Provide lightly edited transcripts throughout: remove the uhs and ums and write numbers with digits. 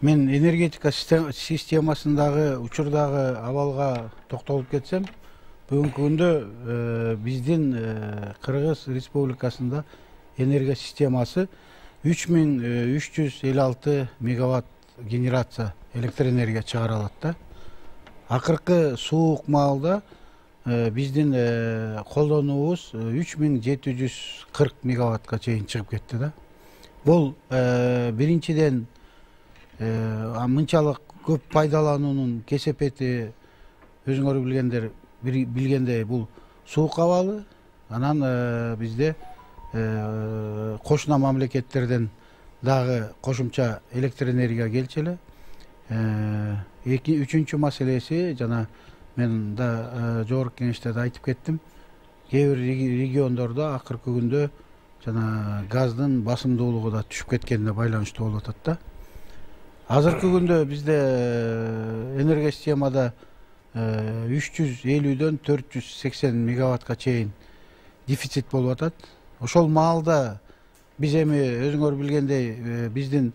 Мен энергетика системасындагы учурдагы абалга токтолуп кетсем, бүгүнкү күндө биздин Кыргыз Республикасында энергия системасы 3356 мегаватт генерация электр энергия чыгара алат да. Акыркы суук маалда биздин колдонуубуз 3740 мегаваттка чейин чыгып кетти да. Бул биринчиден мынчалык көп пайдалануунун кесепети өзүңөр билгендей бул суук абалы. Анан бизде кошуна мамлекеттерден дагы кошумча электр энергия келчү эле. Үчүнчү маселеси, жана мен да жогорку кеңеште да айтып кеттим, кээ бир региондордо акыркы күндө жана газдын басымдуулугу да түшүп кеткенине байланыштуу болуп атат да. Азыркы күндө бизде энергия системада 350дөн 480 мегаваттка чейин дефицит болуп атат. Ошол маалда биз эми өзүңөр билгендей биздин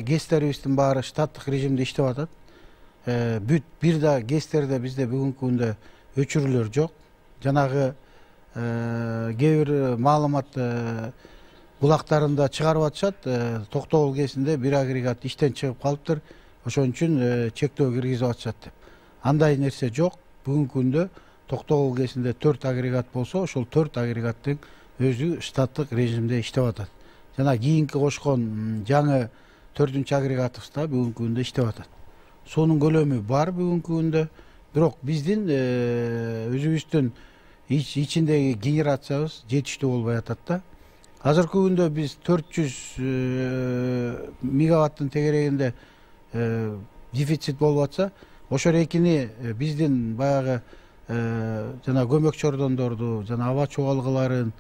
ГЭСтерибиздин баары штаттык режимде иштеп атат. Бүт бир да ГЭСтерде бизде бүгүнкү күндө өчүрүүлөр жок. Жанагы кээ бир маалымат булактарында чыгарып атышат, Токтогул ГЭСинде бир агрегат иштен чыгып калыптыр, ошон үчүн чектөө киргизип атышат деп. Андай нерсе жок. Бүгүнкү күндө Токтогул ГЭСинде 4 агрегат болсо, ошол 4 агрегаттын өзү штаттык режимде иштеп атат. Жана кийинки кошкон жаңы 4-чү агрегатыбыз да бүгүнкү күндө иштеп атат. Суунун көлөмү бар бүгүнкү күндө, бирок биздин өзүбүздүн ичиндеги генерациябыз жетиштүү болбой атат да. Азыркы күндө биз 400 мегаваттын тегерегинде дефицит болуп атса, ошол экини биздин баягы жана көмөк чордондорду, жана аба чубалгыларын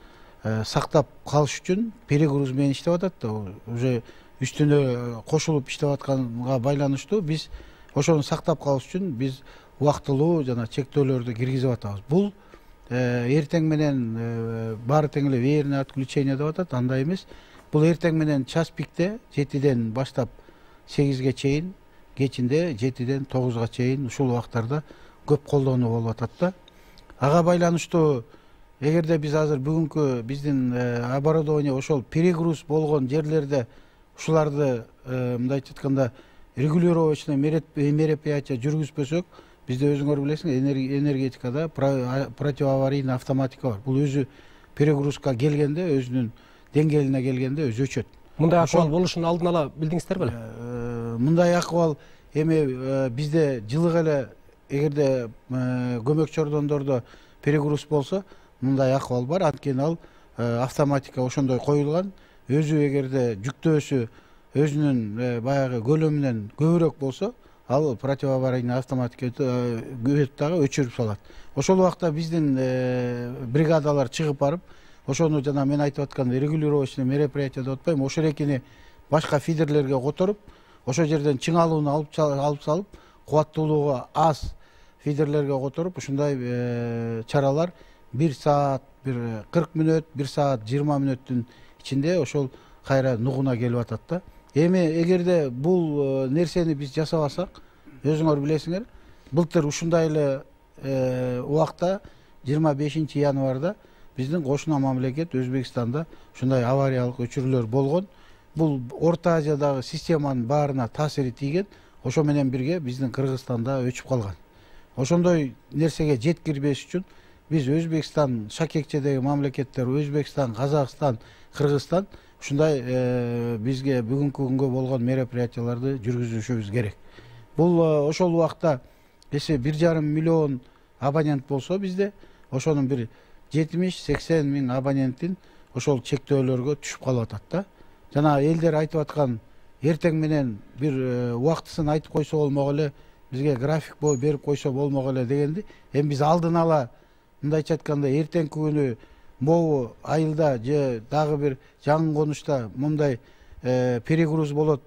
сактап калыш үчүн перегруз менен иштеп атат да. Уже үстүнө кошулуп иштеп атканга байланыштуу биз ошону сактап калыш үчүн биз убактылуу жана чектөөлөрдү киргизип атабыз. Бул эртең менен баары тең эле веерное отключение деп атат, андай эмес. Бул эртең менен час пикте 7ден баштап 8ге чейин, кечинде 7ден 9га чейин ушул убактарда көп колдонуу болуп атат да. Ага байланыштуу эгерде биз азыр бүгүнкү биздин оборудование ошол перегруз болгон жерлерде ушуларды мындайча айтканда регулировочный мероприятия жүргүзбөсөк, бизде өзүңөр билесиңер, энергетикада противоаварийный автоматика бар. Бул өзү перегрузка келгенде, өзүнүн деңгээлине келгенде өзү өчөт. Мындай акыбал болушун алдын ала билдиңиздер беле? Мындай акыбал эми бизде жылык эле эгерде көмөк чордондордо перегруз болсо, мындай акыбал бар. Анткени ал автоматика ошондой коюлган. Өзү эгерде жүктөөсү өзүнүн баягы көлөмүнөн көбүрөөк болсо, ал противоаварийный автоматика өтүп дагы өчүрүп салат. Ошол убакта биздин бригадалар чыгып барып, ошону жана мен айтып аткан регулировочный мероприятие деп атпайбы, ошол экини башка фидерлерге которуп, ошол жерден чыңалууну алып салып, кубаттуулугу аз фидерлерге которуп, ушундай чаралар 1 саат 40 мүнөт, 1 саат 20 мүнөттүн ичинде ошол кайра нугуна келип атат да. Эми эгерде бул нерсени биз жасабасак, өзүңөр билесиңер, былтыр ушундай эле убакта 25 январда биздин кошуна мамлекет Өзбекстанда ушундай авариялык өчүрүүлөр болгон. Бул Орто Азиядагы системанын баарына таасири тийген, ошо менен бирге биздин Кыргызстанда өчүп калган. Ошондой нерсеге жеткирбеш үчүн биз Өзбекстан шакекчедеги мамлекеттер, Өзбекстан, Казакстан, Кыргызстан ушундай бизге бүгүнкү күнгө болгон мероприятияларды жүргүзүшүбүз керек. Бул ошол убакта эсе 1,5 миллион абонент болсо бизде, ошонун бир 70-80 миң абоненттин ошол чектөөлөргө түшүп калып атат да. Жана элдер айтып аткан эртең менен бир убактысын айтып койсо болмок эле, бизге график берип койсо болмок эле дегенди. Эми биз алдын ала мындайча айтканда эртеңки күнү могу айылда же дагы бир жаңы конушта мындай перегруз болот,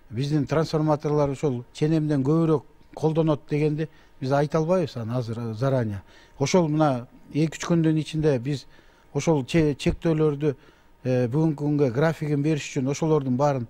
биздин трансформаторлор ошол ченемден көбүрөөк колдонот дегенди биз айта албайбыз аны азыр заранее. Ошол мына 2-3 күндүн ичинде биз ошол чектөөлөрдү бүгүнкү күнгө графигин бериш үчүн ошолордун баарын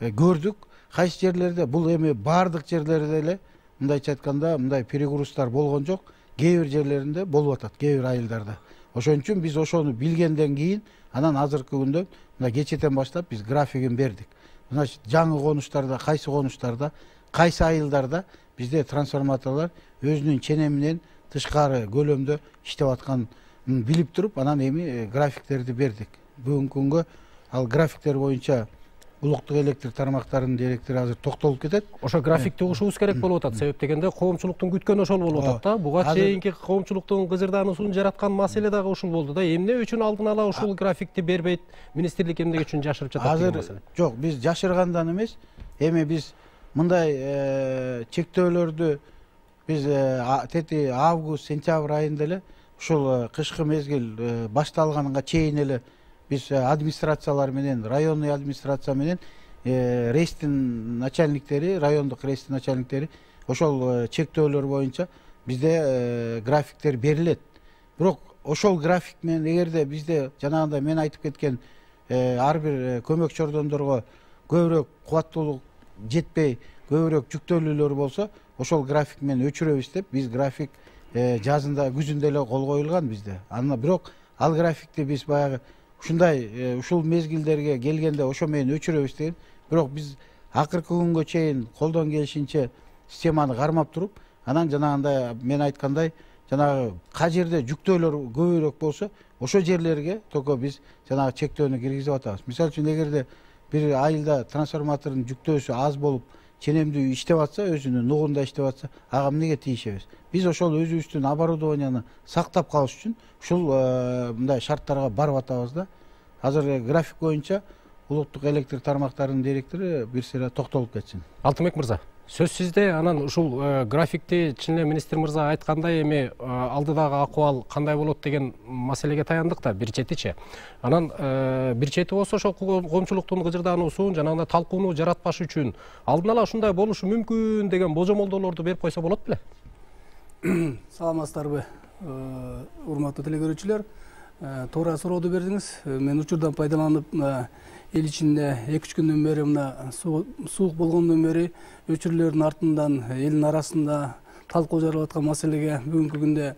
көрдүк. Кайсы жерлерде бул эми баардык жерлерде эле мындайча айтканда мындай перегруздар болгон жок. Кээ бир жерлеринде болуп атат, кээ бир айылдарда. Ошон үчүн биз ошону билгенден кийин анан азыркы күндө мына кечэтен баштап биз графигин бердик. Значит, жаңы конуштарда, кайсы айылдарда бизде трансформаторлор өзүнүн ченеминен тышкары көлөмдө иштеп атканын билип туруп, анан эми графиктерди бердик. Бүгүнкү күнгө ал графиктер боюнча улуттук электр тармактарынын директору азыр токтолуп кетет. Ошо графикти угушубуз керек болуп атат. Себеп дегенде коомчулуктун күткөнү ошол болуп атат да. Буга чейинки коомчулуктун кызырдаануусун жараткан маселе дагы ушул болду да. Эмне үчүн алдын ала ушул графикти бербейт министрлик, эмне үчүн жашырып жатат деген маселе? Жок, биз жашыргандан эмес. Эми биз мындай чектөөлөрдү биз тети август, сентябрь айында эле ушул кышкы мезгил башталганга чейин эле биз администрациялар менен, районный администрация менен рейстин начальниктери, райондук рейстин начальниктери ошол чектөөлөр боюнча бизде графиктер берилет. Бирок ошол график менен эгерде бизде жанагындай мен айтып кеткен ар бир көмөк чордондорго көбүрөөк кубаттуулук жетпей, көбүрөөк жүктөлүүлөр болсо, ошол график менен өчүрөбүз деп биз график жазында, күзүндө эле кол коюлган бизде. Анан бирок ал графикти биз баягы ушундай ушул мезгилдерге келгенде ошо менен өчүрөбүз деген. Бирок биз акыркы күнгө чейин колдон келишинче системаны кармап туруп, анан жанагындай мен айткандай, жанагы кай жерде жүктөөлөр көбүрөөк болсо, ошо жерлерге только биз жанагы чектөөнү киргизип атабыз. Мисалы үчүн эгерде бир айылда трансформатордун жүктөөсү аз болуп, ченемдүү иштеп атса, өзүнүн нугунда иштеп атса, ага эмнеге тийишебиз? Биз ошол өзүбүздүн оборудованияны сактап калыш үчүн ушул мындай шарттарга барып атабыз да. Азыр график боюнча улуттук электр тармактарынын директору бир сыйра токтолуп кетсин. Алтынбек мырза, сөз сизде. Анан ушул графикти чын эле министр мырза айткандай эми алдыдагы акыбал кандай болот деген маселеге таяндык да, бир четичи. Анан бир чети болсо ошол коомчулуктун кыжырдаануусун, жанагындай талкууну жаратпаш үчүн алдын ала ушундай болушу мүмкүн деген божомолдоолорду берип койсо болот беле? Саламатсыздарбы, урматтуу телекөрүүчүлөр. Туура сурооду бердиңиз. Мен учурдан пайдаланып, эл ичинде 2-3 күндөн бери мына суук болгондон бери өчүрлөрдүн артынан элдин арасында талкуу жаралып аткан маселеге бүгүнкү күндө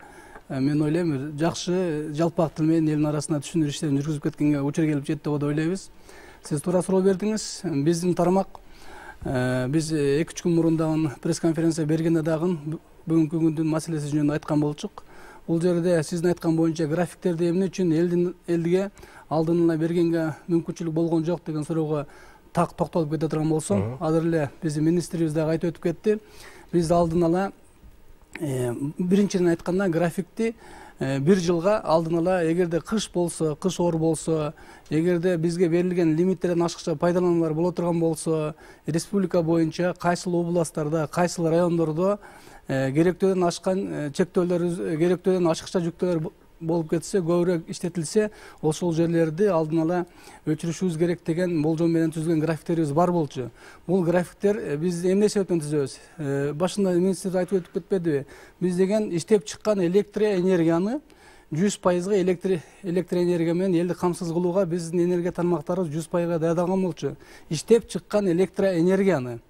мен ойлойм жакшы жалпак тил менен элдин арасында түшүндүрүү иштерин жүргүзүп кеткенге учур келип жетти деп ойлойбуз. Сиз туура суроо бердиңиз. Биздин тармак биз 2-3 күн мурун дагы пресс-конференция бергенде дагы бүгүнкү күндүн маселеси жөнүндө айткан болчук. Бул жерде сиздин айткан боюнча графиктерди эмне үчүн элге алдын ала бергенге мүмкүнчүлүк болгон жок деген суроого так токтолуп кете турган болсом, азыр эле биздин министрибиз дагы айтып өтүп кетти. Биз алдын ала биринчиден айтканда графикти бир жылга алдын ала эгерде кыш болсо, кыш оор болсо, эгерде бизге берилген лимиттерден ашыкча пайдалануулар боло турган болсо, республика боюнча кайсыл областтарда, кайсыл райондордо керектөөдөн ашкан чектөөлөр, керектөөдөн ашыкча жүктөөлөр болуп кетсе, көбүрөөк иштетилсе, ошол жерлерди алдын ала өчүрүшүбүз керек деген болжом менен түзүлгөн графиктерибиз бар болчу. Бул графиктер биз эмне себептен түзөбүз? Башында министр айтып өтүп кетпедиби? Биз деген иштеп чыккан электроэнергияны 100% электроэнергия менен элди камсыз кылууга биздин энергия тармактарыбыз 100% даярдалган болчу. Иштеп чыккан электроэнергияны.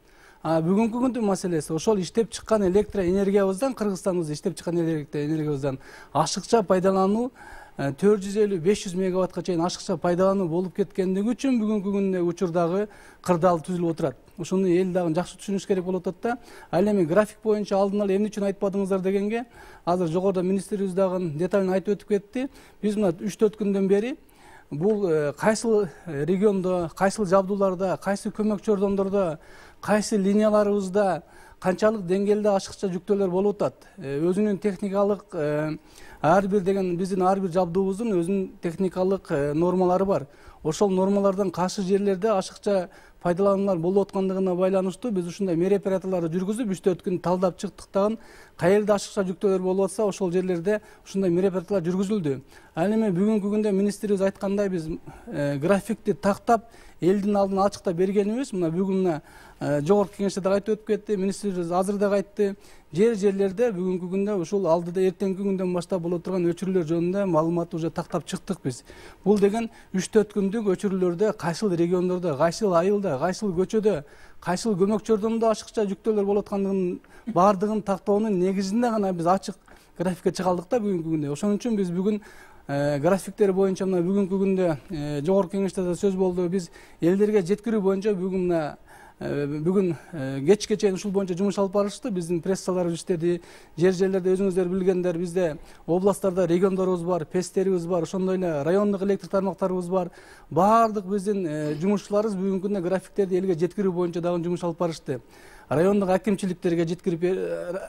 Бүгүнкү күндүн маселеси ошол иштеп чыккан электроэнергиябыздан, Кыргызстандын иштеп чыккан электроэнергиябыздан ашыкча пайдалануу 450-500 мегаваттка чейин ашыкча пайдалануу болуп кеткендиги үчүн бүгүнкү күндө учурдагы кырдаал түзүлүп отурат. Ошону эл дагы жакшы түшүнүш керек болуп атат да. Ал эми график боюнча алдын ала эмне үчүн айтпадыңыздар дегенге, азыр жогоруда министрибиз дагы деталын айтып өтүп кетти. Биз мына 3-4 күндөн бери бул кайсыл региондо, кайсыл жабдууларда, кайсы көмөк чордондордо, кайсы линияларыбызда канчалык деңгээлде ашыкча жүктөөлөр болуп атат. Өзүнүн техникалык ар бир деген биздин ар бир жабдуубуздун өзүнүн техникалык нормалары бар. Ошол нормалардан каршы жерлерде ашыкча пайдалануулар болуп аткандыгына байланыштуу биз ушундай мероприятияларды жүргүзүп 3-4 күн талдап чыктык дагы. Каерде ашыкча жүктөөлөр болуп атса, ошол жерлерде ушундай мероприятиялар жүргүзүлдү. Ал эми бүгүнкү күндө министрибиз айткандай биз графикти тактап элдин алдына ачыкта бергенибиз, мына бүгүн жогорку кеңеште дагы айтып өтүп кетти, министрибиз азыр дагы айтты. жерлерде бүгүнкү күндө ушул алдыда эртеңки күндөн баштап боло турган өчүрүүлөр жөнүндө маалыматты уже тактап чыктык биз. Бул деген 3-4 күндүк өчүрүүлөрдө кайсыл региондордо, кайсыл айылда, кайсыл көчөдө, кайсыл көмөк жардамда ашыкча жүктөөлөр болуп аткандыгын баардыгын тактоонун негизинде гана биз ачык графикке чыга алдык да бүгүнкү күндө. Ошон үчүн биз бүгүн графиктер боюнча мына бүгүнкү күндө жогорку кеңеште да сөз болду. Биз элдерге жеткирүү боюнча бүгүн кечке чейин ушул боюнча жумуш алып барышты. Биздин прессаларыбыз иштеди. Жерлерде өзүңүздөр билгендер, бизде областтарда региондорубуз бар, пестерибиз бар, ошондой эле райондук электр тармактарыбыз бар. Баардык биздин жумушчуларыбыз бүгүнкү күндө графиктерди элге жеткирүү боюнча дагы жумуш алып барышты. Райондук акимчиликтерге жеткирип,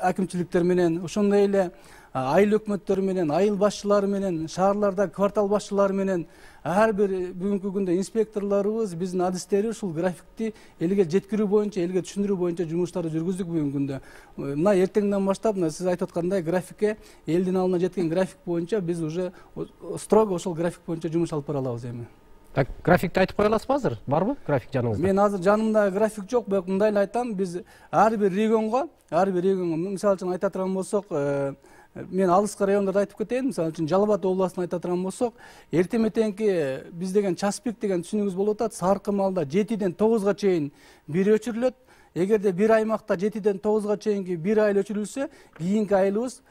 акимчиликтер менен, ошондой эле айыл өкмөттөрү менен, айыл башчылары менен, шаарларда квартал башчылары менен ар бир бүгүнкү күндө инспекторлорубуз, биздин адистери ушул графикти элге жеткирүү боюнча, элге түшүндүрүү боюнча жумуштарды жүргүздүк бүгүнкү күндө. Мына эртеңден баштап, мына сиз айтып аткандай графикке, элдин алдына жеткен график боюнча биз уже строго ошол график боюнча жумуш алып бара алабыз эми. Так, графикти айтып кое аласызбы азыр? Барбы график жаныңызда? Мен азыр жанымда график жок, бирок мындай эле айтам, биз ар бир регионго, мисалы үчүн айта турган болсок, мен алыскы райондорду айтып кетейин. Мисалы үчүн Жалал Абад областын айта турган болсок, эртең мененки биз деген час пик деген түшүнүгүбүз болуп атат. Саркы маалда 7ден 9га чейин бир өчүрүлөт. Эгерде бир аймакта 7ден 9га чейинки бир айыл өчүрүлсө, кийинки айылыбыз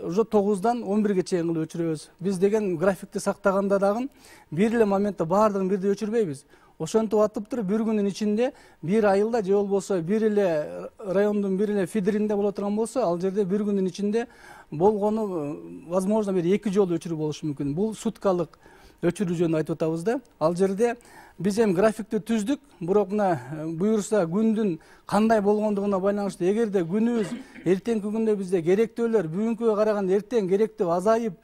уже 9дан 11ге чейин кылып өчүрөбүз. Биз деген графикти сактаганда дагы бир эле моментте баардыгын бирдей өчүрбөйбүз. Ошентип атып туруп бир күнүн ичинде бир айылда же болбосо бир эле райондун бир эле фидеринде боло турган болсо, ал жерде бир күнүн ичинде болгону возможно бир 2 жолу өчүрүү болушу мүмкүн. Бул суткалык өчүрүү жөнүндө айтып атабыз да. Ал жерде биз эми графикти түздүк, бирок мына буюрса күндүн кандай болгондугуна байланыштуу. Эгерде күнүбүз эртеңки күндө бизде керектөөлөр бүгүнкүгө караганда эртең керектөө азайып,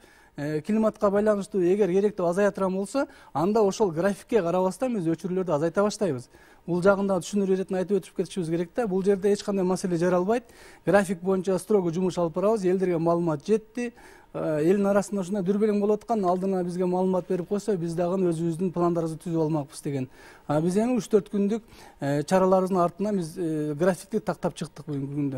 климатка байланыштуу эгер керектөө азая турган болсо, анда ошол графикке карабастан биз өчүрүүлөрдү азайта баштайбыз. Бул жагында түшүндүрүү иретин айтып өтүп кетишибиз керек да. Бул жерде эч кандай маселе жаралбайт. График боюнча строго жумуш алып барабыз. Элдерге маалымат жетти. Элдин арасында ушундай дүрбелең болуп аткан, алдына бизге маалымат берип койсо, биз дагы өзүбүздүн пландарыбызды түзүп алмакпыз деген. Биз эми 3-4 күндүк чараларыбыздын артынан биз графикти тактап чыктык бүгүнкү күндө.